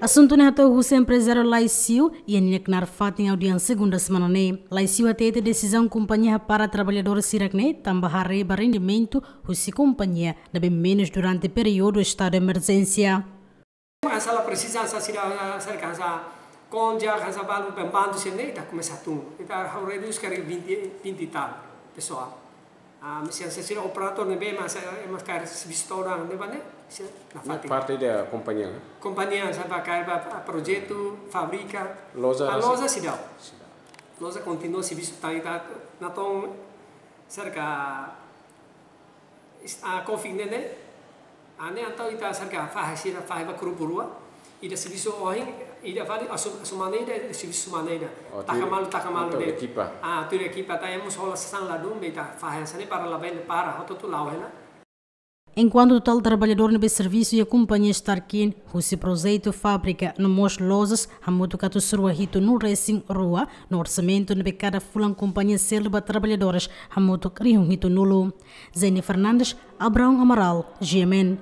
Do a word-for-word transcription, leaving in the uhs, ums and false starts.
Asuntu ne'e hato'o husi emprezáriu Laisiu iha nia knaar fatin audiénsia segunda semana ne'e. Laisiu hatete desizaun kompañia hapara traballadór sira-ne'e tanba haree ba rendimentu husi kompañia ne'ebé menus durante períodu estadu emerjénsia. Masalah presiza sa sira, serka sa konja, sa balu pembantu sira-ne'e ita komesa tun. Ita ha'u redús karik vinte, vinte e tal pesoál. Ah, misian sa sira operadór ne'ebé masa, eh, mas karik servisu todan ne'ebá ne'e, sira nafatin. Parte da kompañia, né? Kompañia sa ba karik ba, ah, projetu, fábrika. Loja Ah, rasik. Loja seidauk. Seidauk. Loja kontinua servisu tan ita natoon serka is-, ah, covid ne'e ne'e. Ah, ne'e entaun ita serka fahe sira fahe ba grupu rua. Ida servisu ohin, ida fali asu-, asu mane ida, ida servisu mane ida. Oh, taka tuir, malu, taka malu entaun ne'e. Ekipa. Ah, tuir ekipa ta emos hola sasán ladún be ita fahe hanesan ne'e para labele para, hotu-hotu la'o hela. Enkuantu totál traballadór ne'ebé servisu iha kompañia Starkin, husi projetu fábrika no mós lojas, hamutuk atus rua hitunulu resin rua, no orsamentu ne'ebé kada fulan kompañia selu ba traballadores, hamutuk rihun hitunulu. Jenny Fernandes, Abraão Amaral, G M N.